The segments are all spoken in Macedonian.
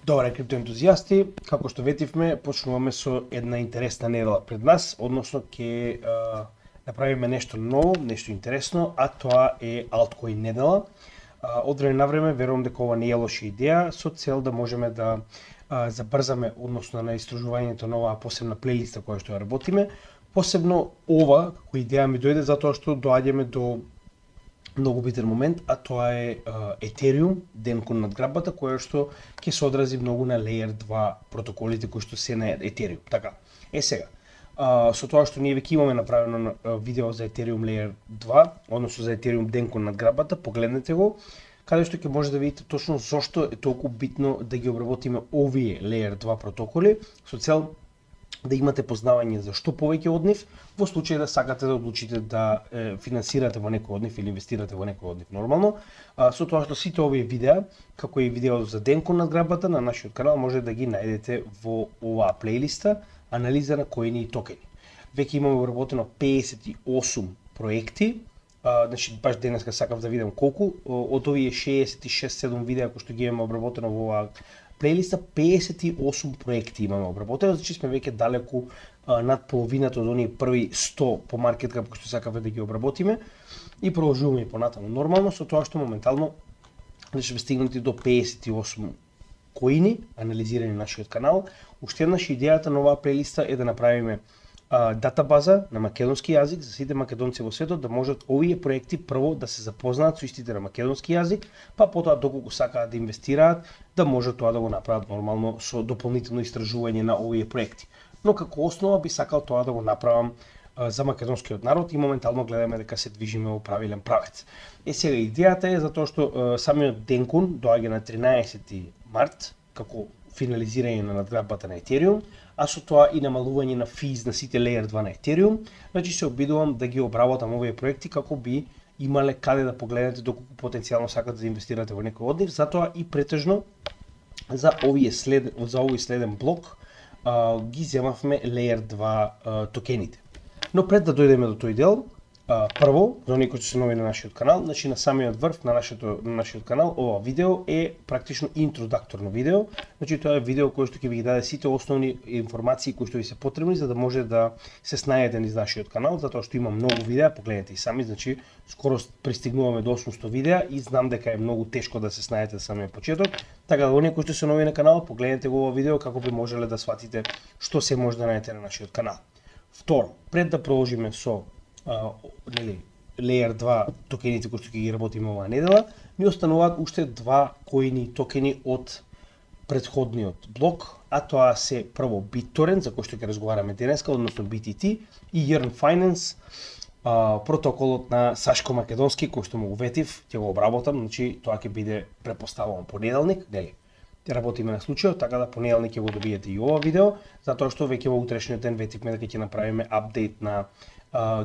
Добре, криптоентузијасти, како што ветивме, почнуваме со една интересна недела пред нас, односно ќе направиме нешто ново, нешто интересно, а тоа е Altcoin недела. Од време на време верувам дека ова не е лоша идеја, со цел да можеме да забрзаме односно на истражувањето на оваа посебна плейлиста која што ја работиме. Посебно ова како идеја ми дојде затоа што доаѓаме до многу битен момент, а тоа е Ethereum, денкон надграбата, која што ќе се одрази многу на Layer 2 протоколите кои што се на Ethereum. Така, сега, со тоа што ние веќе имаме направено видео за Ethereum Layer 2, односно за Ethereum денкон надграбата, погледнете го, каде што ќе може да видите точно зошто е толку битно да ги обработиме овие Layer 2 протоколи, со цел да имате познавање за што повеќе од нив, во случај да сакате да одлучите да финансирате во некој од нив или инвестирате во некој од нив нормално. Со тоа што сите овие видеа, како и видео за денкон надграбата на нашиот канал, може да ги најдете во оваа плейлиста анализа на коини и токени. Веќе имаме обработено 58 проекти, значи баш денеска сакав да видам колку од овие 66-7 видеа кои што ги имаме обработено во оваа плейлиста, 58 проекти имаме обработено, значи сме веќе далеку над половината од оние први 100 по маркет кап кои што сакавме да ги обработиме и продолжуваме и понатаму нормално, со тоа што моментално сме стигнати до 58 коини анализирани на нашиот канал. Уште еднаш идејата на оваа плейлиста е да направиме датабаза на македонски јазик за сите македонци во светот, да можат овие проекти прво да се запознаат со истите на македонски јазик, па потоа доколку сакаат да инвестираат, да можат тоа да го направат нормално со дополнително истражување на овие проекти. Но како основа би сакал тоа да го направам за македонскиот народ и моментално гледаме дека се движиме во правилен правец. Сега идејата е затоа што самиот денкон доаѓа на 13 март како финализирање на надграбата на Ethereum, а со тоа и намалување на физ на сите Layer 2 на Ethereum, значи се обидувам да ги обработам овие проекти како би имале каде да погледнете доколку потенцијално сакате да инвестирате во некој од нив, затоа и претежно за овој следен блок ги земавме Layer 2 токените. Но пред да дојдеме до тој дел, прво, за оние кои се нови на нашиот канал, значи на самиот врв на нашиот канал, ова видео е практично интродакторно видео, значи тоа е видео кој што ќе ви ги даде сите основни информации кои што ви се потребни за да може да се снајдете низ нашиот канал, затоа што има многу видеа, погледнете и сами, значи скоро пристигнуваме до 800 видеа и знам дека е многу тешко да се снајдете за самиот почеток, така да оние кои што се нови на каналот, погледнете го ова видео како би можеле да сватите што се може да најдете на нашиот канал. Второ, пред да продолжиме со Layer 2 токените кои што ќе ги работиме оваа недела, ни остануваат уште два коини токени од претходниот блок, а тоа се прво BitTorrent, за кој што ќе разговараме денеска, односно BTT, и Yearn Finance, протоколот на сашко-македонски, кој што му го ветив, ќе го обработам, значи тоа ќе биде претпоставувам понеделник, нели? Ќе работиме на случајот, така да понеделник ќе го добиете и ова видео, затоа што веќе во утрешниот ден ветивме дека ќе направиме апдейт на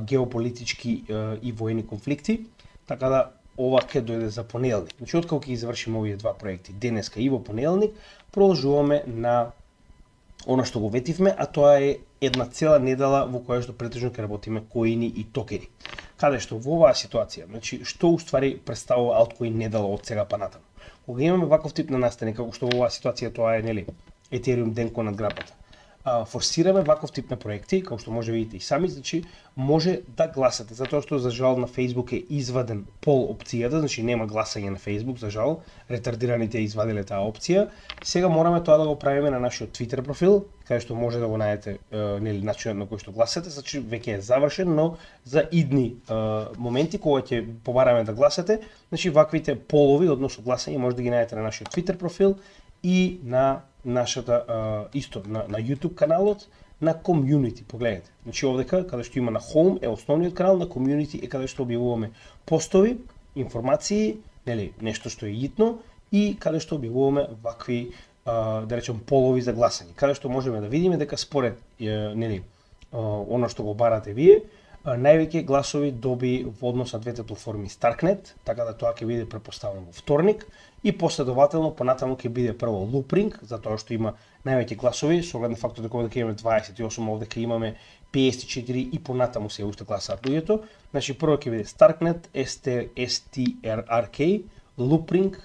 геополитички и воени конфликти, така да ова ќе дојде за понеделник. Значи, откако ќе завршиме овие два проекти денеска и во понеделник, продолжуваме на она што го ветивме, а тоа е една цела недела во која што претежно ќе работиме коини и токени. Каде што во оваа ситуација, значи, што уствари представува Altcoin недела од сега па натаму? Кога имаме ваков тип на настани, како што во оваа ситуација тоа е, нели, Ethereum денкон надграбата, форсираме ваков тип на проекти, како што може видите и сами, значи може да гласате, затоа што за жал на Facebook е изваден пол опцијата, значи нема гласање на Facebook, за жал, ретардираните извадиле таа опција. Сега мораме тоа да го правиме на нашиот Twitter профил, каде што може да го најдете нели начинот на кој што гласате, значи веќе е завршен, но за идни моменти кога ќе побараме да гласате, значи ваквите полови односно гласање може да ги најдете на нашиот Twitter профил и на нашата исто на YouTube каналот на Community, погледнете. Значи овдека каде што има на Home е основниот канал, на Community е каде што објавуваме постови, информации, нели, нешто што е итно и каде што објавуваме вакви да речем полови за гласање. Каде што можеме да видиме дека според нели она што го барате вие, највеќе гласови доби во однос на двете платформи Starknet, така да тоа ќе биде претпоставено во вторник и последователно понатаму ќе биде прво Loopring, затоа што има највеќе гласови, со оглед на фактот дека овде имаме 28, овде имаме 54 и понатаму се уште гласаат луѓето. Значи прво ќе биде Starknet, STRK, Loopring,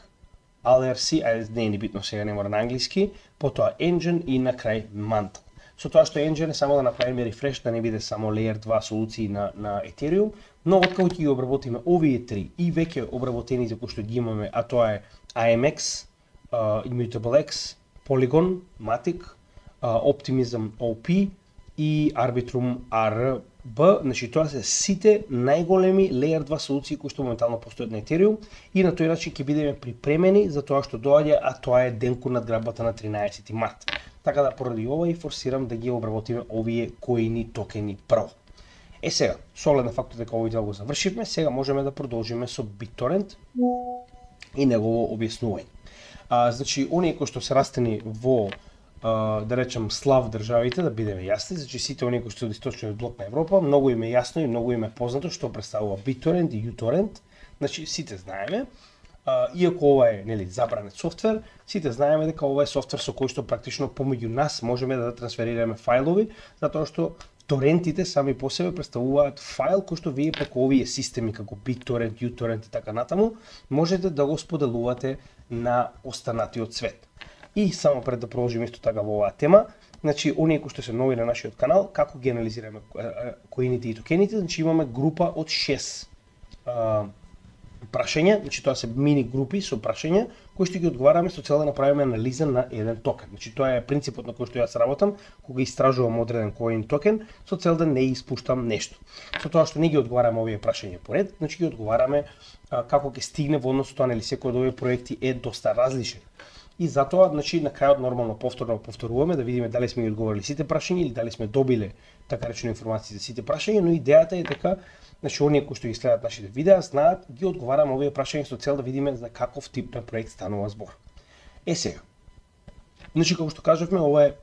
Alercy, не е ни битно сега, не мора на англиски, потоа Engine и на крај Mantle. Со тоа што Engine е само да направиме рефреш, да не биде само Layer 2 солуции на Ethereum, но откако ќе ги обработиме овие три и веќе обработените кои што ги имаме, а тоа е IMX, Immutable X, Polygon, Matic, Optimism OP и Arbitrum RB, значи тоа се сите најголеми Layer 2 солуции кои што моментално постојат на Ethereum и на тој начин ќе бидеме припремени за тоа што доаѓа, а тоа е денку надграбата на 13 март. Така да поради ова и форсирам да ги обработиме овие коини токени прво. Сега, со оглед на фактот дека овој дел го завршивме, сега можеме да продолжиме со BitTorrent и негово објаснување. Значи, оние кои што се растени во да речем слав државите, да бидеме јасни, значи сите оние кои што од источниот блок на Европа, многу им е јасно и многу им е познато што представува BitTorrent и uTorrent. Значи сите знаеме, иако ова е нели забранет софтвер, сите знаеме дека ова е софтвер со кој што практично помеѓу нас можеме да трансферираме фајлови, затоа што торентите сами по себе представуваат файл кој што вие преку овие системи како BitTorrent, uTorrent и така натаму можете да го споделувате на останатиот свет. И само пред да продолжиме исто така во оваа тема, значи оние кои што се нови на нашиот канал, како ги анализираме коините и токените, значи имаме група од 6 прашања, значи тоа се мини групи со прашања кои што ги одговараме со цел да направиме анализа на еден токен. Значи тоа е принципот на кој што јас работам кога истражувам одреден коин токен со цел да не испуштам нешто. Со тоа што не ги одговараме овие прашања поред, значи ги одговараме како ќе стигне во однос тоа, нели секој од овие проекти е доста различен. И затоа, значи, на крајот нормално повторуваме да видиме дали сме ги одговорили сите прашања или дали сме добиле така речено информации за сите прашања, но идејата е дека значи оние кои што ги следат нашите видеа знаат, ги одговараме овие прашања со цел да видиме за каков тип на проект станува збор. Сега. Значи како што кажавме, ова е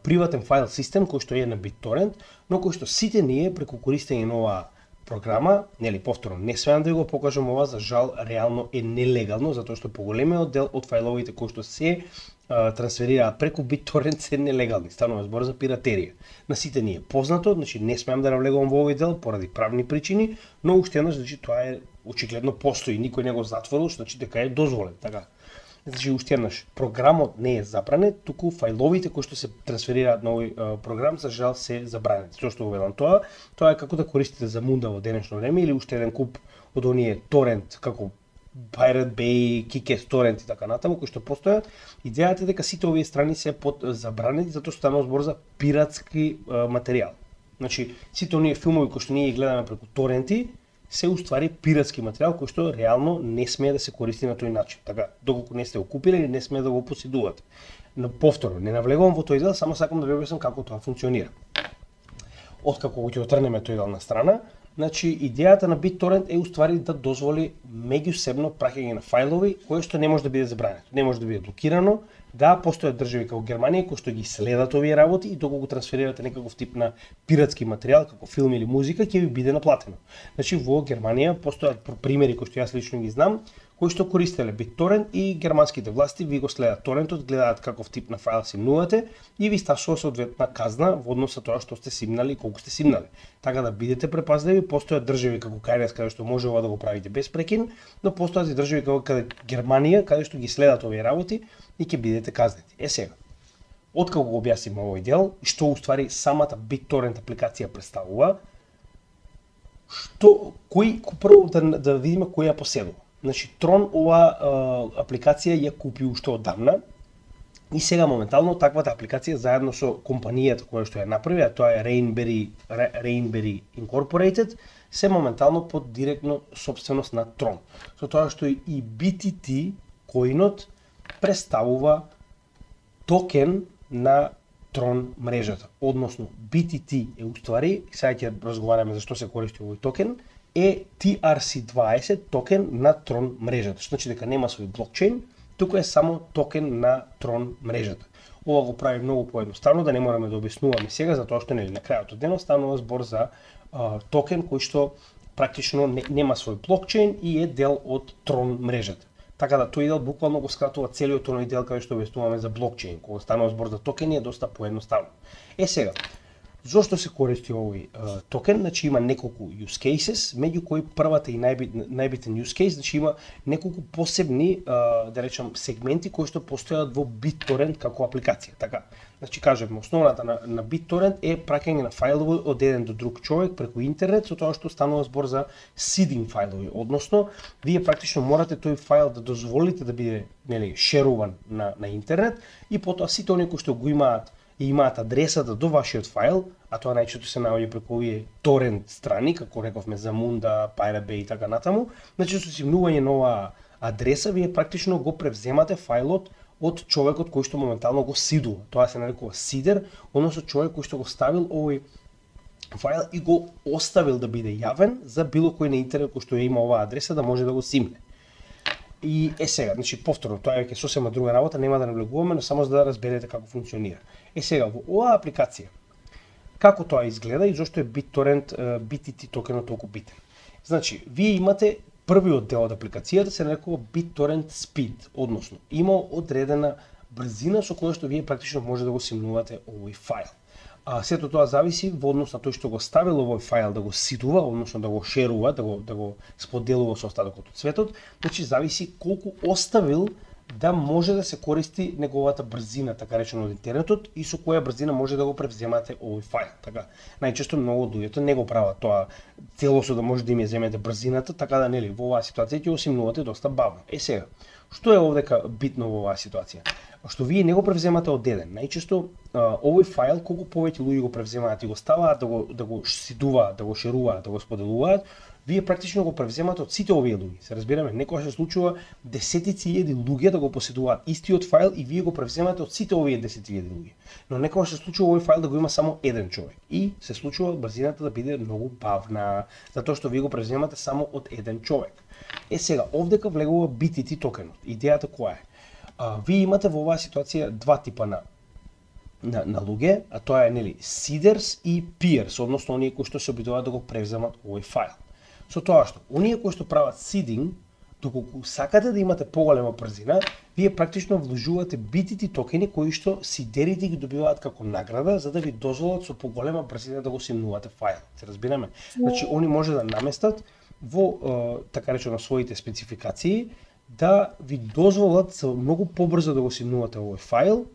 приватен файл систем кој што е на BitTorrent, но кој што сите ние преку користење на оваа програма, нели повторно, не смеам да го покажам ова, за жал реално е нелегално, затоа што поголемиот дел од фајловите кои што се трансферираат преку BitTorrent се нелегални, станува збор за пиратерија. На сите ни е познато, значи не смеам да навлегувам во овој дел поради правни причини, но уште еднаш, значи тоа е очигледно постои, никој не го затворил, значи дека е дозволен, така. Значи уште еднаш, програмот не е забранет, туку фајловите кои што се трансферираат на овој програм за жал се забранети. Зошто го велам тоа? Тоа е како да користите за мунда во денешно време или уште еден куп од оние торент како Pirate Bay, Kikes Torrent и така натаму кои што постојат. Идејата е дека сите овие страни се под забранети затоа што станува збор за пиратски материјал. Значи сите оние филмови кои што ние ги гледаме преку торенти се уствари пиратски материјал кој што реално не смее да се користи на тој начин. Така, доколку не сте го купиле или не смее да го поседувате. Но повторно, не навлегувам во тој дел, само сакам да ви објаснам како тоа функционира. Откако го ќе отрнеме тој дел на страна, значи идејата на BitTorrent е уствари да дозволи меѓусебно праќање на фајлови кое што не може да биде забрането, не може да биде блокирано. Да, постојат држави како Германија кои што ги следат овие работи и доколку трансферирате некаков тип на пиратски материјал како филм или музика ќе ви биде наплатено. Значи во Германија постојат примери кои што јас лично ги знам, кои што користеле BitTorrent и германските власти ви го следат торентот, гледаат каков тип на файл симнувате и ви стасува соодветна казна во однос со тоа што сте симнали и колку сте симнали. Така да бидете препазливи, постојат држави како КНР каде што може ова да го правите без прекин, но постојат и држави како Германија каде што ги следат овие работи и ќе бидете казнети. Сега, откако го објасним овој дел, што уствари самата BitTorrent апликација представува, прво да видиме кој ја поседува. Значи, Tron ова апликација ја купи уште одамна и сега моментално таквата апликација заедно со компанијата која што ја направи, а тоа е Rainberry Incorporated, се моментално под директно собственост на Tron. Со тоа што и BTT коинот представува токен на Tron мрежата. Односно, BTT е уствари, сега ќе разговараме за што се користи овој токен, е TRC20 токен на Tron мрежата. Што значи дека нема свој блокчейн, туку е само токен на Tron мрежата. Ова го прави многу поедноставно, да не мораме да објаснуваме сега, затоа што нели на крајот од денот станува збор за токен кој што практично нема свој блокчейн и е дел од Tron мрежата. Така да тој дел буквално го скратува целиот оној дел каде што објаснуваме за блокчейн, кога станува збор за токени е доста поедноставно. Сега, Зошто се користи овој токен? Значи има неколку use cases, меѓу кои првата и најбитен use case, значи има неколку посебни, да речам, сегменти кои што постојат во BitTorrent како апликација. Така, значи кажеме, основната на BitTorrent е праќање на фајлови од еден до друг човек преку интернет, со тоа што станува збор за seeding фајлови, односно вие практично морате тој фајл да дозволите да биде, нели, шеруван на интернет и потоа сите оние кои што го имаат и имаат адресата до вашиот фајл, а тоа најчесто се наоѓа преку овие торент страни, како рековме Zamunda, Pirate Bay и така натаму. Значи со симнување на оваа адреса вие практично го превземате фајлот од човекот кој што моментално го сидува. Тоа се нарекува сидер, односно човек кој што го ставил овој фајл и го оставил да биде јавен за било кој на интернет кој што ја има оваа адреса да може да го симне. И сега, значи повторно, тоа е сосема друга работа, нема да навлегуваме, но само за да разберете како функционира. Сега, во оваа апликација, како тоа изгледа и зошто е BitTorrent BTT токенот толку битен? Значи, вие имате првиот дел од апликацијата се нарекува BitTorrent Speed, односно има одредена брзина со која што вие практично може да го симнувате овој фајл. Сето тоа зависи во однос на тој што го ставил овој фајл да го сидува, односно да го шерува, да го споделува со остатокот од светот, значи зависи колку оставил да може да се користи неговата брзина, така речено, од интернетот и со која брзина може да го превземате овој фајл. Така, најчесто многу од луѓето не го прават тоа целосно да може да им ја земете брзината, така да, нели, во оваа ситуација ќе го симнувате доста бавно. Сега, што е овдека битно во оваа ситуација? Што вие не го превземате од еден. Најчесто овој фајл колку повеќе луѓе го превземаат и го ставаат да го сидуваат, да го шеруваат, да го споделуваат, вие практично го превземате од сите овие луѓе. Се разбираме, некогаш се случува десетици илјади луѓе да го поседуваат истиот фајл и вие го превземате од сите овие 10.000 луѓе. Но некогаш се случува овој фајл да го има само еден човек и се случува брзината да биде многу бавна, затоа што вие го превземате само од еден човек. Сега, овдека влегува BTT токенот. Идејата која е? Вие имате во оваа ситуација два типа на луѓе, а тоа е, нели, seeders и peers, односно оние кои што се обидуваат да го превземат овој фајл. Со тоа што, оние кои што прават seeding, доколку сакате да имате поголема брзина, вие практично вложувате BTT токени кои што сидерите ги добиваат како награда за да ви дозволат со поголема брзина да го симнувате фајл. Се разбираме? Значи, они може да наместат во, така речено, своите спецификации да ви дозволат со многу побрзо да го симнувате овој фајл,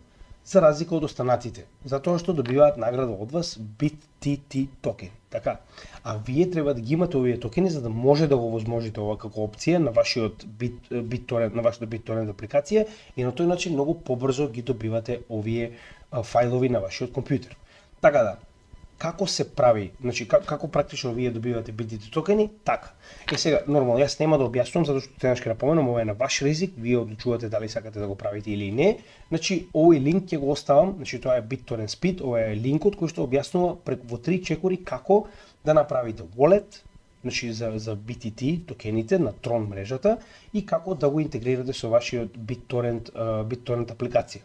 за разлика од останатите, затоа што добиваат награда од вас BTT токен. Така, а вие треба да ги имате овие токени за да може да го возможите ова како опција на вашиот BitTorrent, на вашата BitTorrent апликација и на тој начин многу побрзо ги добивате овие фајлови на вашиот компјутер. Така да, како се прави, значи како практично вие добивате BTT токени, така. Сега, нормално, јас нема да објаснувам, затоа што тенаш ќе напоменам, ова е на ваш ризик, вие одлучувате дали сакате да го правите или не. Значи, овој линк ќе го оставам, значи тоа е BitTorrent Speed, ова е линкот кој што објаснува во 3 чекори како да направите wallet, значи за BTT токените на Tron мрежата и како да го интегрирате со вашиот BitTorrent апликација.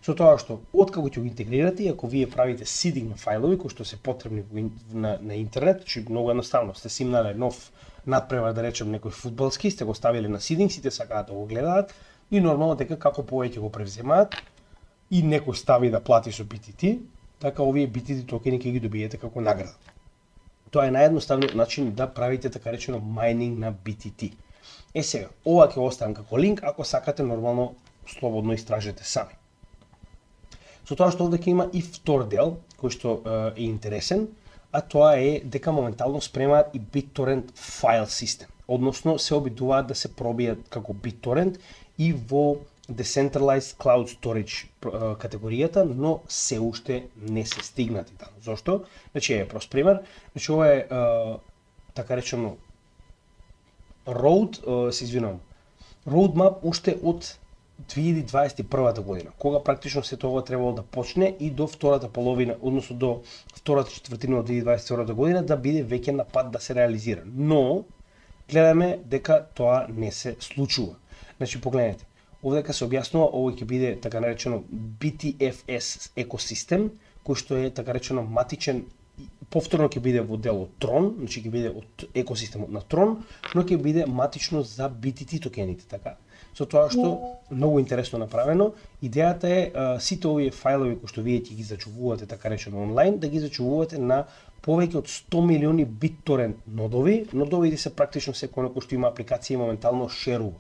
Со тоа што, откако ќе го интегрирате, ако вие правите seeding на фајлови кои што се потребни на интернет, че многу едноставно, сте симнале нов надпревар, да речем, некој фудбалски, сте го ставиле на seeding, сите сакаат да го гледаат и нормално дека како повеќе го превземаат и некој стави да плати со BTT, така овие BTT токени ќе ги добиете како награда. Тоа е наједноставниот начин да правите така речено майнинг на BTT. Сега, ова ќе оставам како линк, ако сакате нормално слободно истражете сами. Со тоа што овде ќе има и втор дел, кој што е интересен, а тоа е дека моментално спремаат и BitTorrent файл систем. Односно, се обидуваат да се пробијат како BitTorrent и во Decentralized Cloud Storage категоријата, но се уште не се стигнати таму. Зошто? Значи, е прост пример. Значи, ова е, така речено, roadmap уште од 2021 година, кога практично се тоа требало да почне и до втората половина, односно до втората четвртина од 2022 година да биде веќе на пат да се реализира. Но гледаме дека тоа не се случува. Значи погледнете, овдека се објаснува, овој ќе биде така наречено BTFS екосистем, кој што е така речено матичен, повторно ќе биде во дел од Tron, значи ќе биде од екосистемот на Tron, но ќе биде матично за BTT токените, така. со тоа што многу интересно направено. Идејата е сите овие фајлови кои што вие ќе ги зачувувате така речено онлайн, да ги зачувувате на повеќе од 100 милиони BitTorrent нодови. Нодовите се практично секој кој што има апликација и моментално шерува.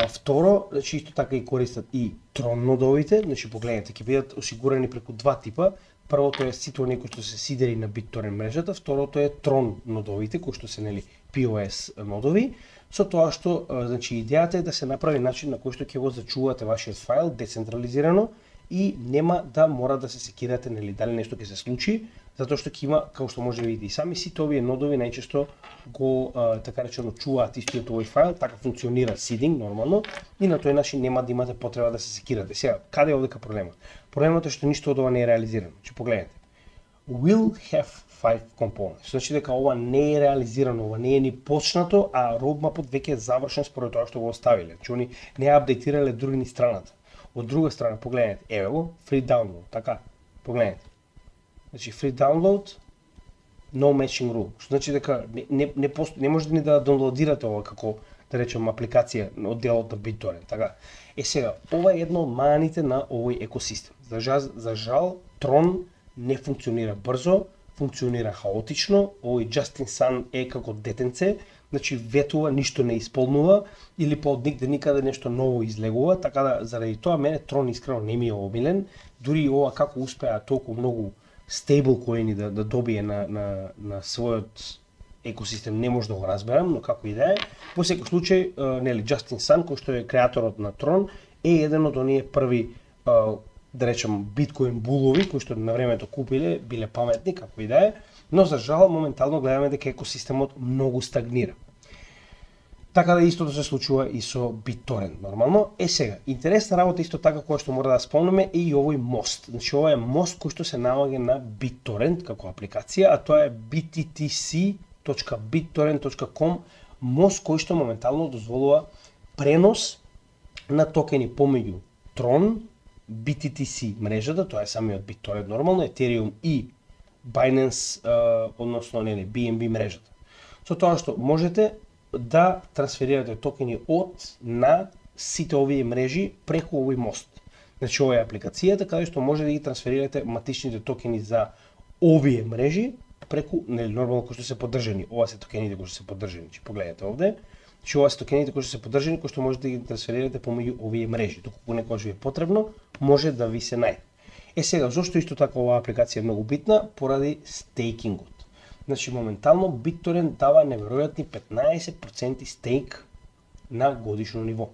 Второ, значи исто така и користат и Tron нодовите, значи погледнете, ќе бидат осигурани преку два типа. Првото е сите оние кои што се сидери на BitTorrent мрежата, второто е Tron нодовите кои што се нели POS нодови. Со тоа што значи идејата е да се направи начин на кој што ќе го зачувате вашиот файл децентрализирано и нема да мора да се секирате нели дали нешто ќе се случи, затоа што ќе има, како што може да видите и сами, сите овие нодови најчесто го така речено чуваат истиот овој файл, така функционира seeding нормално и на тој начин нема да имате потреба да се секирате. Сега, каде е овдека проблемот? Проблемот е што ништо од ова не е реализирано. Значи погледнете. Will have 5 components. Значи дека ова не е реализирано, ова не е ни почнато, а roadmapот веќе е завршен според тоа што го оставиле. Значи они не ја апдейтирале други ни страната. Од друга страна, погледнете, еве го, free download, така, погледнете. Значи, free download, no matching rule. Што значи дека не можете ни да доwnloadирате ова како, да речем, апликација од делот на BitTorrent, така. Сега, ова е едно од маните на овој екосистем. За жал, Tron не функционира брзо, функционира хаотично, овој Just in Sun е како детенце, значи ветува, ништо не исполнува, или па од нигде никаде нешто ново излегува, така да заради тоа мене Tron искрено не ми е обилен, дури и ова како успеа толку многу стейблкоини да добие на својот екосистем не може да го разберам, но како и да е. Во секој случај, нели Just in Sun, кој што е креаторот на Tron, е еден од оние први да речем биткоин булови кои што на времето купиле, биле паметни како и да е, но за жал моментално гледаме дека екосистемот многу стагнира. Така да истото се случува и со BitTorrent нормално. Сега, интересна работа исто така која што мора да спомнеме е и овој мост. Значи ова е мост кој што се наоѓа на BitTorrent како апликација, а тоа е bttc.bittorrent.com, мост кој што моментално дозволува пренос на токени помеѓу Tron, BTTC мрежата, тоа е самиот BitTorrent нормално, Ethereum и Binance, односно нели BNB мрежата. Со тоа што можете да трансферирате токени од на сите овие мрежи преку овој мост. Значи ова е апликацијата каде што може да ги трансферирате матичните токени за овие мрежи преку нели нормално кои што се поддржани. Ова се токените кои што се поддржани. Значи погледнете овде. Значи ова се токените кои што се поддржани, кои што можете да ги трансферирате помеѓу овие мрежи. Доколку некогаш ви е потребно, може да ви се најде. Сега, зошто исто така оваа апликација е многу битна? Поради стейкингот. Значи, моментално BitTorrent дава неверојатни 15% стейк на годишно ниво.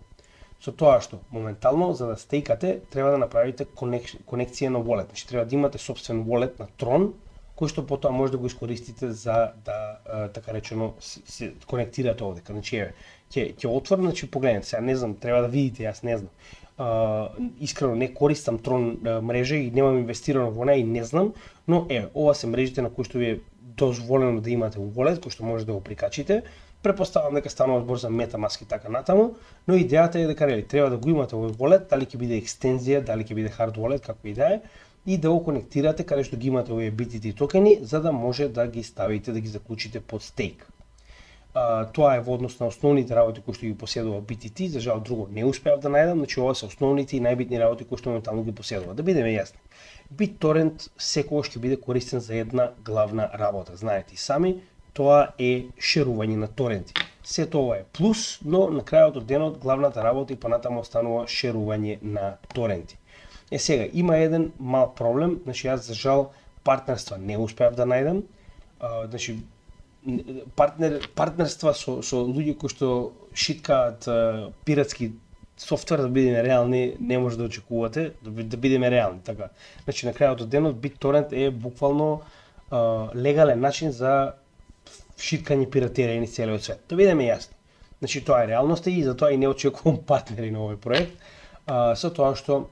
Со тоа што, моментално, за да стейкате, треба да направите конекција на wallet. Значи, треба да имате собствен wallet на Tron, кој што потоа може да го искористите за да, така речено, се конектирате овде. Значи, еве, ќе отворам, значи, погледнете, сега не знам, треба да видите, јас не знам. Искрено не користам Tron мрежа и немам инвестирано во неа и не знам, но еве, ова се мрежите на кои што ви е дозволено да имате wallet, кој што може да го прикачите. Препоставам дека станува збор за MetaMask и така натаму, но идејата е дека нели треба да го имате овој wallet, дали ќе биде екстензија, дали ќе биде hard wallet, како и да е, и да го конектирате каде што ги имате овие BTT токени, за да може да ги ставите, да ги заклучите под стейк. Тоа е во однос на основните работи кои што ги поседува BTT, за жал друго не успеав да најдам, значи ова се основните и најбитни работи кои што моментално ги поседува. Да бидеме јасни. BitTorrent секогаш ќе биде користен за една главна работа. Знаете и сами, тоа е шерување на торенти. Сето ова е плюс, но на крајот од денот главната работа и понатаму останува шерување на торенти. Сега има еден мал проблем, значи јас за жал партнерства не успеав да најдам. Значи партнерства со луѓе кои што шиткаат пиратски софтвер, да бидеме реални, не може да очекувате, да бидеме реални, така. Значи на крајот од денот BitTorrent е буквално легален начин за шиткање пиратерија низ целиот свет. Да бидеме јасни. Значи тоа е реалноста и затоа и не очекувам партнери на овој проект, со тоа што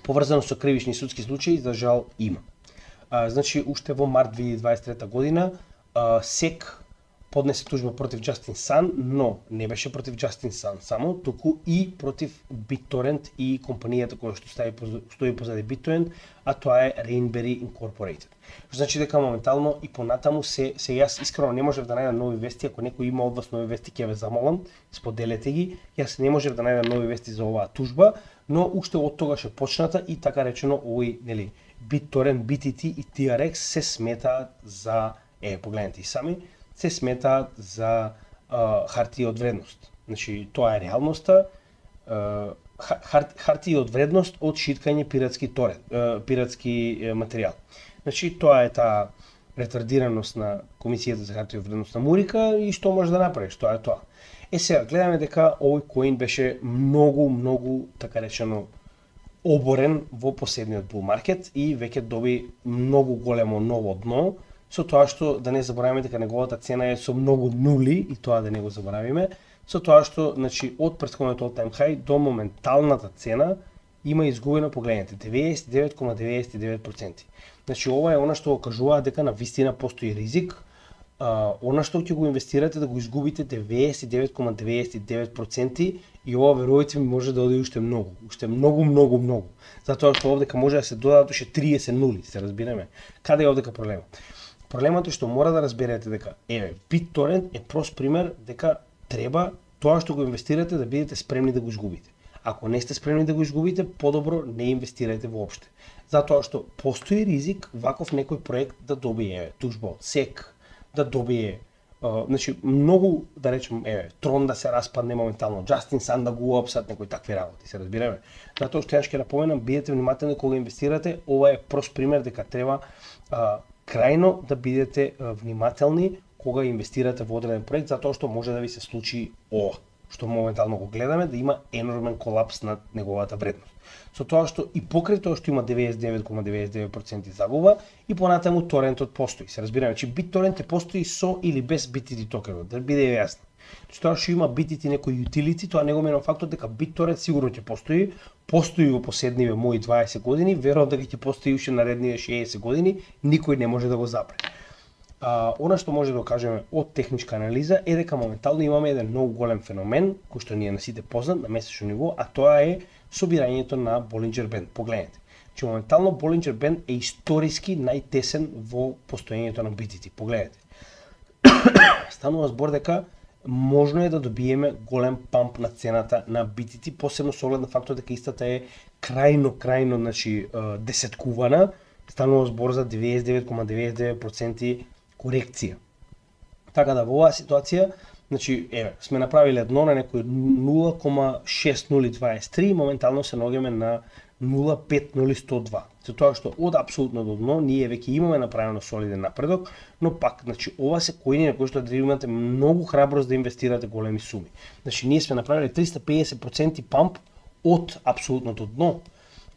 поврзано со кривични судски случаи, за жал има. Значи уште во март 2023 година SEC поднесе тужба против Justin Sun, но не беше против Justin Sun само, туку и против BitTorrent и компанијата која што стои позади BitTorrent, а тоа е Rainberry Incorporated. Што значи дека моментално и понатаму се јас искрено не можев да најдам нови вести, ако некој има од вас нови вести ќе ве замолам, споделете ги. Јас не можев да најдам нови вести за оваа тужба, но уште од тогаш е почната и така речено овој, нели, BitTorrent, BTT и TRX се сметаат за, погледнете и сами, се сметаат за хартија од вредност. Значи, тоа е реалноста, хартија од вредност од шиткање пиратски материјал. Значи, тоа е таа ретардираност на Комисијата за хартија од вредност на Мурика и што може да направиш, тоа е тоа. Сега, гледаме дека овој коин беше многу, така речено, оборен во последниот bull market и веќе доби многу големо ново дно, со тоа што да не забораваме дека неговата цена е со многу нули и тоа да не го заборавиме, со тоа што, значи, од претходниот all-time high до моменталната цена има изгубено, погледнете, 99,99%. Значи, ова е она што го кажува дека на вистина постои ризик, она што ќе го инвестирате да го изгубите 99,99% и ова, верувајте ми, може да оди уште многу. Затоа што овдека може да се додадат уште 30 нули, се разбираме. Каде е овдека проблемот? Проблемот е што мора да разберете дека, BitTorrent е прост пример дека треба тоа што го инвестирате да бидете спремни да го изгубите. Ако не сте спремни да го изгубите, подобро не инвестирајте воопште. Затоа што постои ризик ваков некој проект да добие тужба од SEC, да добие, значи многу, да речем, Трон да се распадне моментално, Justin Sun да го уапсат, некои такви работи, се разбираме. Затоа што јас ќе напоменам, бидете внимателни кога инвестирате, ова е прост пример дека треба крајно да бидете внимателни кога инвестирате во одреден проект, затоа што може да ви се случи ова, што моментално го гледаме, да има енормен колапс над неговата вредност. Со тоа што и покрај тоа што има 99,99% загуба, и понатаму торентот постои. Се разбираме, че BitTorrent постои со или без BTT токенот, да биде јасно. Че тоа што има BTT некој utility, тоа не го менува фактот дека BitTorrent сигурно ќе постои во последниве мои 20 години, верувам дека ќе постои уште наредниве 60 години, никој не може да го запре. Она што може да кажеме од техничка анализа е дека моментално имаме еден многу голем феномен, кој што ни е на сите познат на месечно ниво, а тоа е собирањето на Bollinger Band. Погледнете, че моментално Bollinger Band е историски најтесен во постоењето на BTT. Погледнете. Станува збор дека можно е да добиеме голем памп на цената на BTT, посебно со оглед на фактот дека истата е крајно, значи, десеткувана. Станува збор за 99,99% корекција. Така да во оваа ситуација, значи, сме направиле дно на некој 0,6023, моментално се наоѓаме на 0,5002. За тоа што од апсолутно дно ние веќе имаме направено солиден напредок, но пак, значи, ова се коини на кои што да имате многу храброст да инвестирате големи суми. Значи, ние сме направиле 350% памп од апсолутното дно.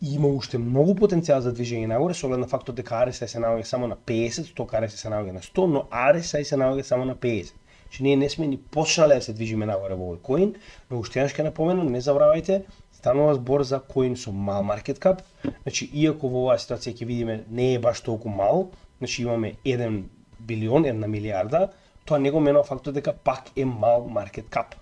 И има уште многу потенцијал за движење нагоре, со оглед на фактот дека RSI се наоѓа само на 50, сток RSI се наоѓа на 100, но RSI се наоѓа само на 50. Че ние не сме ни почнале да се движиме нагоре во овој коин, но уште еднаш ќе напоменам, не забравајте, станува збор за коин со мал маркет кап. Значи, иако во оваа ситуација ќе видиме не е баш толку мал, значи имаме 1 билион, 1 милиарда, тоа не го менува фактот дека пак е мал маркет кап.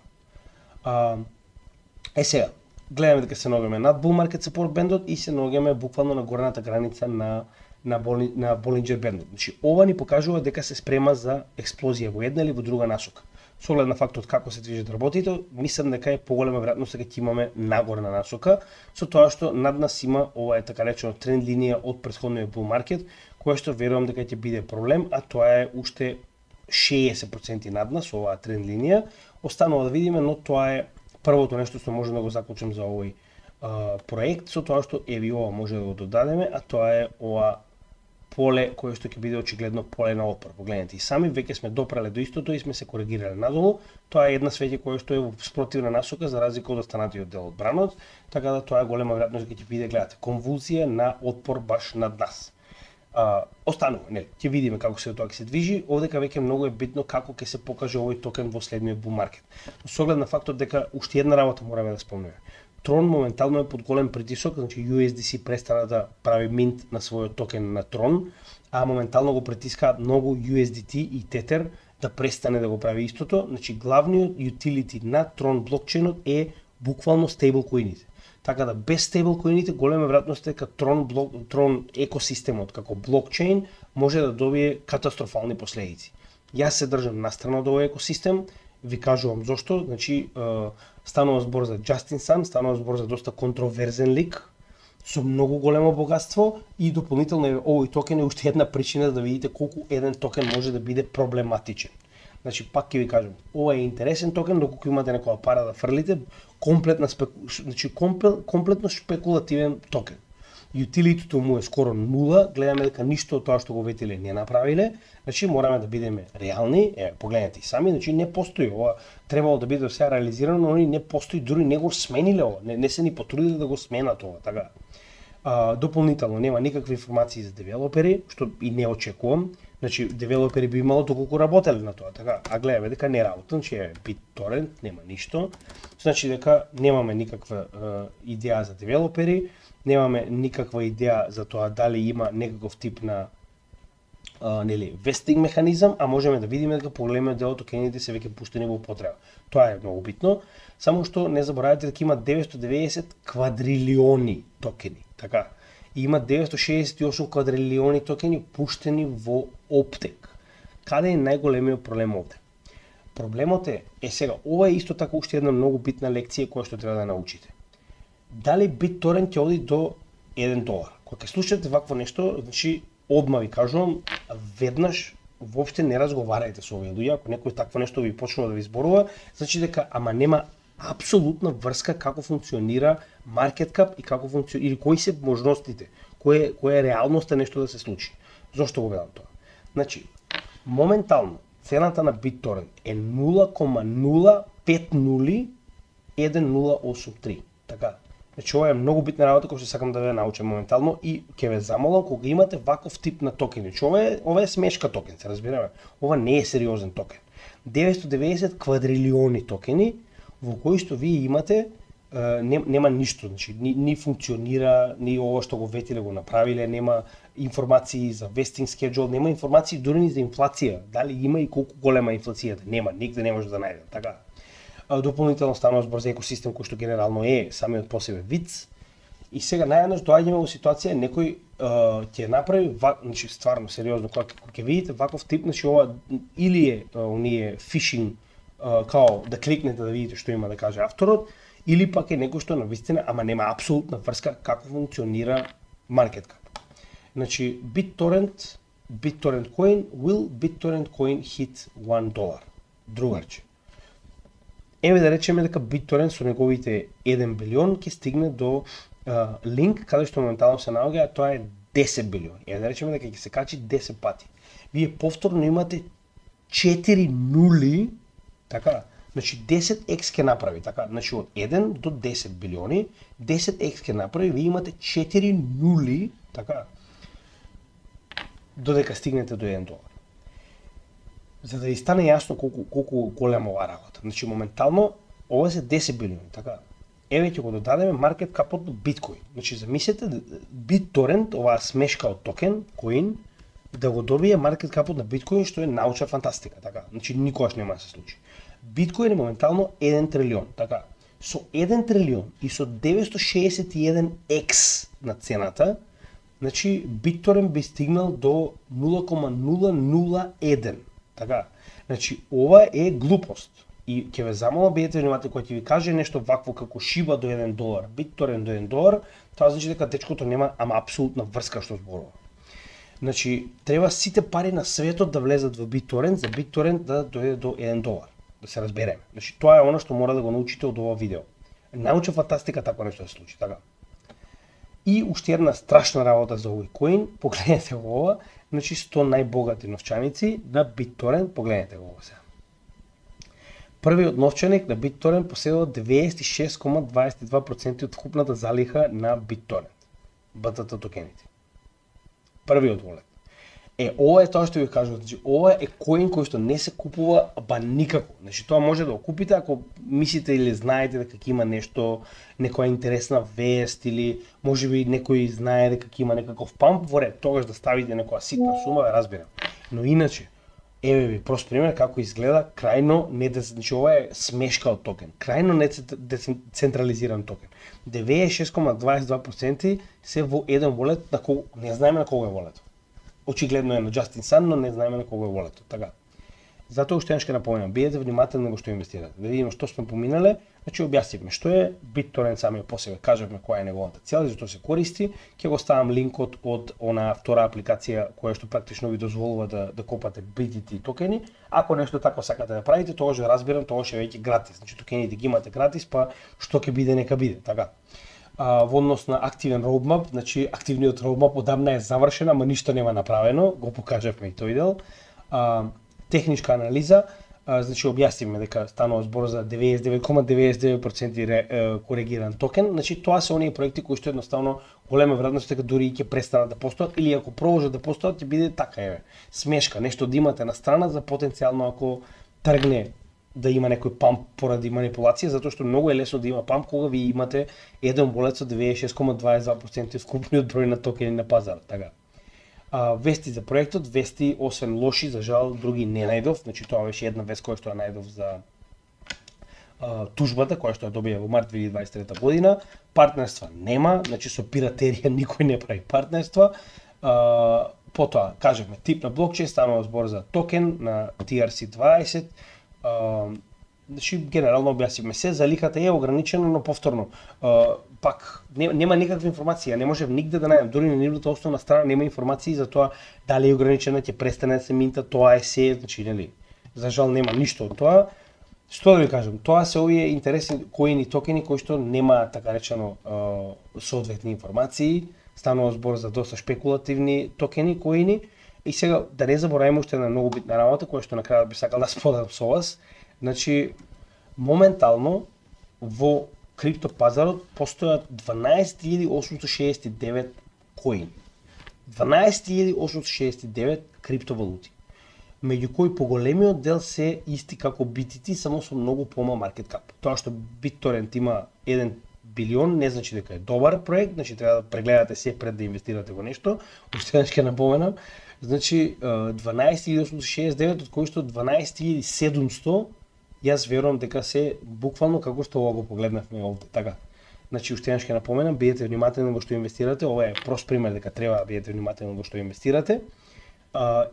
Сега, гледаме дека се наоѓаме над bull market support бендот и се наоѓаме буквално на горната граница на Bollinger Band. Значи, ова ни покажува дека се спрема за експлозија во една или во друга насока. Со оглед на фактот како се движат работите, мислам дека е поголема веројатност дека ќе имаме нагорна насока, со тоа што над нас има ова е така речено тренд линија од претходниот bull market, која што верувам дека ќе биде проблем, а тоа е уште 60% над нас, оваа тренд линија. Останува да видиме, но тоа е првото нешто што можем да го заклучам за овој проект, со тоа што еви ова може да го додадеме, а тоа е ова поле кое што ќе биде очигледно поле на отпор. Погледнете, и сами веќе сме допрале до истото и сме се коригирале надолу. Тоа е една свеќе која што е во спротивна насока за разлика од останатиот дел од бранот, така да тоа е голема веројатност дека ќе биде, гледате, конвулзија на отпор баш над нас. Останува, нели, ќе видиме како се тоа ќе се движи. Овдека веќе многу е битно како ќе се покаже овој токен во следниот bull market. Со оглед на фактот дека уште една работа мораме да спомнеме. Трон моментално е под голем притисок, значи USDC престана да прави минт на својот токен на Трон, а моментално го притискаат многу USDT и Tether, да престане да го прави истото. Значи главниот utility на Tron блокчейнот е буквално стейблкоините. Така да без стейблкоините голема веројатност е дека Tron екосистемот како блокчейн може да добие катастрофални последици. Јас се држам настрана од овој екосистем, ви кажувам зошто, значи станува збор за Justin Sun, станува збор за доста контроверзен лик со многу големо богатство и дополнително овој токен е уште една причина да видите колку еден токен може да биде проблематичен. Значи пак ќе ви кажам, ова е интересен токен доколку имате некоја пара да фрлите, комплетно шпекулативен токен. Утилитито му е скоро нула, гледаме дека ништо од тоа што го ветиле не направиле, значи мораме да бидеме реални, погледнете и сами, значи не постои ова, требало да биде сега реализирано, но не постои, дури не го смениле ова, не се ни потрудиле да го сменат ова, така. Дополнително нема никакви информации за девелопери, што и не очекувам. Значи девелопери би имало доколку работеле на тоа, така. А гледаме дека не работат, значи е BitTorrent, нема ништо. Значи дека немаме никаква идеја за девелопери, немаме никаква идеја за тоа дали има некаков тип на вестинг механизам, а можеме да видиме дека поголемиот дел од токените се веќе пуштени во употреба. Тоа е многу битно, само што не заборавајте дека има 990 квадрилиони токени, така. И има 968 квадрилиони токени пуштени во оптек. Каде е најголемиот проблем овде? Проблемот е сега, ова е исто така уште една многу битна лекција која што треба да научите. Дали BitTorrent ќе оди до $1? Кога ќе слушате вакво нешто, значи одма ви кажувам, веднаш воопште не разговарајте со овие луѓе, ако некој такво нешто ви почнува да ви зборува, значи дека нема апсолутна врска како функционира market cap и како функционира или кои се можностите, која е реалноста нешто да се случи. Зошто го велам тоа? Значи, моментално цената на BitTorrent е 0,0501083. Така. Значи ова е многу битна работа која што сакам да ве научам моментално и ќе ве замолам кога имате ваков тип на токени. Значи ова е смешка токен, се разбираме. Ова не е сериозен токен. 990 квадрилиони токени во кои што вие имате нема ништо, значи ни функционира, ни ова што го ветиле го направиле, нема информации за vesting schedule, нема информации дури ни за инфлација, дали има и колку голема инфлацијата, нема, нигде не може да најдем, така. Дополнително станува збор за екосистем кој што генерално е самиот по себе виц. И сега наједнаш доаѓаме во ситуација некој ќе направи, значи стварно сериозно, кога ќе видите ваков тип, значи ова или е оние фишинг као да кликнете да видите што има да каже авторот, или пак е некој што навистина, ама нема апсолутна врска како функционира market cap. Значи BitTorrent coin, will BitTorrent coin hit $1? Другарче. Еве да речеме дека BitTorrent со неговите 1 билион ќе стигне до линк каде што моментално се наоѓа, тоа е 10 билиони. Еве да речеме дека ќе се качи 10 пати. Вие повторно имате 4 нули, така, значи 10x ќе направи, така, значи од 1 до 10 билиони, 10x ќе направи, вие имате 4 нули, така, додека стигнете до $1. За да ви стане јасно колку голема ова работа. Значи моментално ова се 10 билиони, така. Еве ќе го додадеме маркет капот на биткоин. Значи замислете BitTorrent, оваа смешка од токен, коин, да го добие маркет капот на биткоин, што е научна фантастика, така. Значи никогаш нема да се случи. Биткоин е моментално 1 трилион, така. Со 1 трилион и со 961x на цената, значи BitTorrent би стигнал до 0,001. Така. Значи ова е глупост. И ќе ве замолам, бидете внимателни кога ќе ви каже нешто вакво како Shiba до $1, BitTorrent до $1, тоа значи дека дечкото нема апсолутна врска што зборува. Значи треба сите пари на светот да влезат во BitTorrent, за BitTorrent да дојде до $1. Да се разбереме. Значи тоа е она што мора да го научите од ова видео. Научна фантастика такво нешто да се случи, така. И уште една страшна работа за овој коин, погледнете го ова, значи 100 најбогати новчаници на BitTorrent, погледнете го ова сега. Првиот новчаник на BitTorrent поседува 96,22% од вкупната залиха на BitTorrent, BTT токените. Првиот волет. Ова е тоа што ви кажувам, значи ова е коин кој што не се купува ба никако. Значи тоа може да го купите ако мислите или знаете дека ќе има нешто, некоја интересна вест или можеби некој знае дека ќе има некаков памп во ред, тогаш да ставите некоја ситна сума, да разберам. Но иначе Еве ви прост пример како изгледа крајно значи ова е смешка од токен, крајно децентрализиран токен. 96,22% се во еден волет, на кого не знаеме на кого е волето. Очигледно е на Justin Sun, но не знаеме на кого е волето. Така. Затоа уште ќе напомнам, бидете внимателни во што инвестирате. Да видиме што сме поминале, значи објаснивме што е BitTorrent самиот по себе, кажавме која е неговата цел и зашто се користи. Ќе го ставам линкот од она втора апликација која што практично ви дозволува да копате BTT токени. Ако нешто тако сакате да правите, тогаш да разбирам, тогаш е веќе гратис. Значи токените ги имате гратис, па што ќе биде нека биде, така. Во однос на активен roadmap, значи активниот roadmap одамна е завршен, ама ништо нема направено, го покажавме и тој дел. Техничка анализа, значи објаснивме дека станува збор за 99,99% коригиран токен, значи тоа се оние проекти кои што едноставно голема веројатност дека дури ќе престанат да постојат или ако продолжат да постојат ќе биде така еве. Смешка, нешто да имате на страна за потенцијално ако тргне да има некој памп поради манипулација, затоа што многу е лесно да има памп кога ви имате еден болет со 96,22% вкупниот број на токени на пазарот, така. Вести за проектот, вести освен лоши, за жал, други не најдов, значи тоа беше една вест која што ја најдов за тужбата која што ја добија во март 2023 година. Партнерства нема, значи со пиратерија никој не прави партнерства. Потоа, кажавме, тип на блокчейн, станува збор за токен на TRC20. Значи, генерално објаснивме се, за ликата е ограничено, но повторно, пак, нема никаква информација, не можев нигде да најдам, дури на нивната основна страна нема информации за тоа дали е ограничена, ќе престане да се минта, тоа е се, значи, нели, за жал нема ништо од тоа. Што да ви кажам, тоа се овие интересни коини токени кои што нема така речено соодветни информации, станува збор за доста шпекулативни токени коини. И сега да не забораваме уште на многу битна работа која што на крајот би сакал да споделам со вас. Значи, моментално во криптопазарот постојат 12.869 коини. 12.869 криптовалути. Меѓу кои поголемиот дел се исти како BTT, само со многу помал маркет кап. Тоа што BitTorrent има 1 билион не значи дека е добар проект, значи треба да прегледате се пред да инвестирате во нешто. Уште еднаш ќе напоменам. Значи 12.869 од кои што 12.700 јас верувам дека се буквално како што ова го погледнавме овде, така. Значи уште еднаш ќе напоменам, бидете внимателни во што инвестирате, ова е прост пример дека треба да бидете внимателни во што инвестирате.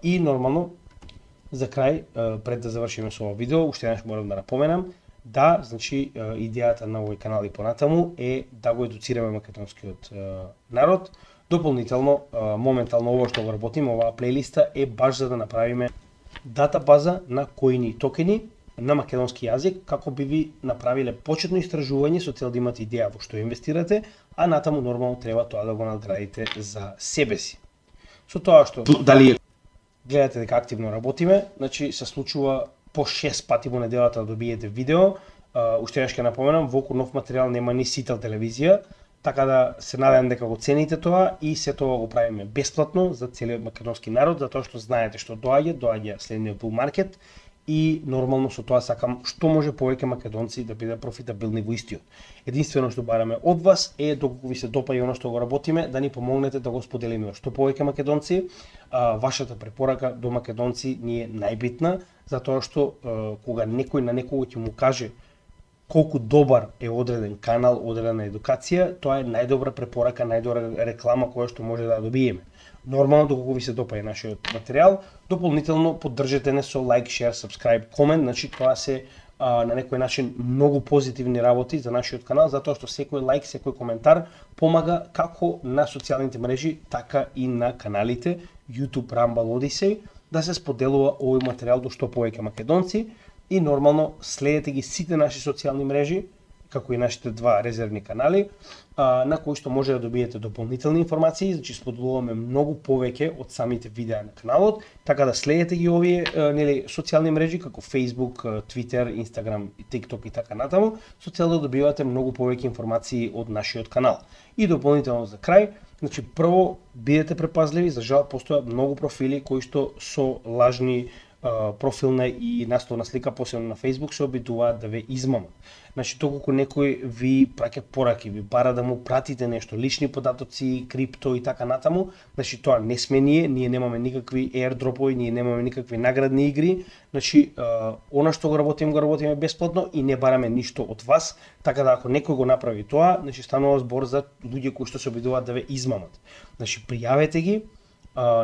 И нормално за крај, пред да завршиме со ова видео, уште еднаш морам да напоменам, да, значи идејата на овој канал и понатаму е да го едуцираме македонскиот народ. Дополнително, моментално ова што го работиме, оваа плейлиста е баш за да направиме датабаза на коини и токени на македонски јазик, како би ви направиле почетно истражување со цел да имате идеја во што инвестирате, а натаму нормално треба тоа да го надградите за себе си. Со тоа што дали гледате дека активно работиме, значи се случува по 6 пати во неделата да добиете видео. Уште еднаш ќе напоменам, во околу нов материјал нема ни сител телевизија, така да се надевам дека го цените тоа и се тоа го правиме бесплатно за целиот македонски народ, затоа што знаете што доаѓа следниот bull market и нормално со тоа сакам што може повеќе македонци да бидат профитабилни во истиот. Единствено што бараме од вас е доколку ви се допаѓа оно што го работиме, да ни помогнете да го споделиме што повеќе македонци. Вашата препорака до македонци ни е најбитна, затоа што кога некој на некого ќе му каже колку добар е одреден канал, одредена едукација, тоа е најдобра препорака, најдобра реклама која што може да добиеме. Нормално, доколку ви се допаѓа нашиот материјал, дополнително поддржете не со лайк, шер, subscribe, комент, значи тоа се на некој начин многу позитивни работи за нашиот канал, затоа што секој лайк, секој коментар помага како на социјалните мрежи, така и на каналите YouTube, Rumble, Odyssey, да се споделува овој материјал до што повеќе македонци и нормално следете ги сите наши социјални мрежи, како и нашите два резервни канали, на кои што може да добиете дополнителни информации, значи споделуваме многу повеќе од самите видеа на каналот, така да следете ги овие социјални мрежи како Facebook, Twitter, Instagram, TikTok и така натаму, со цел да добивате многу повеќе информации од нашиот канал. И дополнително за крај, значи прво бидете препазливи, за жал постојат многу профили кои што со лажни профилна и насловна слика, посебно на Facebook, се обидуваат да ве измамат. Значи, доколку некој ви праќа пораки, ви бара да му пратите нешто, лични податоци, крипто и така натаму, значи тоа не сме ние немаме никакви airdroпови, ние немаме никакви наградни игри, значи она што го работиме бесплатно и не бараме ништо од вас, така да ако некој го направи тоа, значи станува збор за луѓе кои што се обидуваат да ве измамат. Значи, пријавете ги,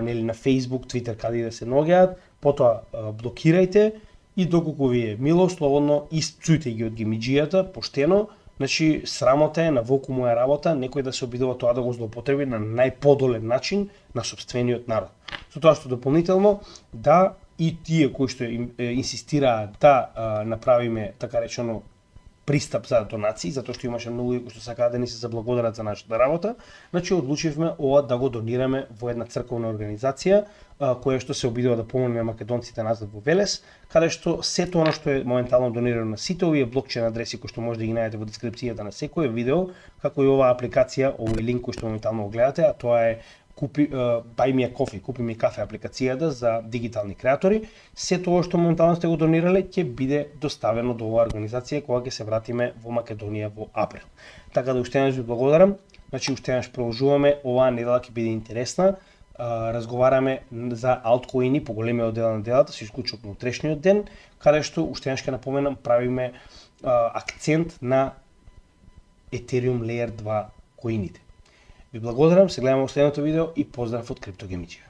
нели на Facebook, Twitter, каде да се наоѓаат, потоа блокирајте и доколку ви е мило, слободно испцујте ги од гемиџијата, поштено, значи срамота е на волку моја работа, некој да се обидува тоа да го злоупотреби на најподолен начин на сопствениот народ. Со тоа што дополнително да и тие кои што инсистираат да направиме така речено пристап за донации, затоа што имаше многу луѓе кои што сакаат да ни се заблагодарат за нашата работа, значи одлучивме ова да го донираме во една црковна организација која што се обидува да помогне македонците назад во Велес, каде што сето она што е моментално донирано на сите овие блокчейн адреси кои што може да ги најдете во дескрипцијата на секој видео, како и оваа апликација, овој линк кој што моментално го гледате, а тоа е Buy Me a Coffee, купи ми кафе апликацијата за дигитални креатори. Сето ова што моментално сте го донирале ќе биде доставено до оваа организација кога ќе се вратиме во Македонија во април. Така да уште еднаш ви благодарам. Значи уште еднаш продолжуваме, оваа недела ќе биде интересна. Разговараме за алткоини по големиот дел на делата, со исклучок на утрешниот ден, каде што уште еднаш ќе напоменам правиме акцент на Ethereum Layer 2 коините. Ви благодарам, се гледаме во следното видео и поздрав од Криптогемиџија.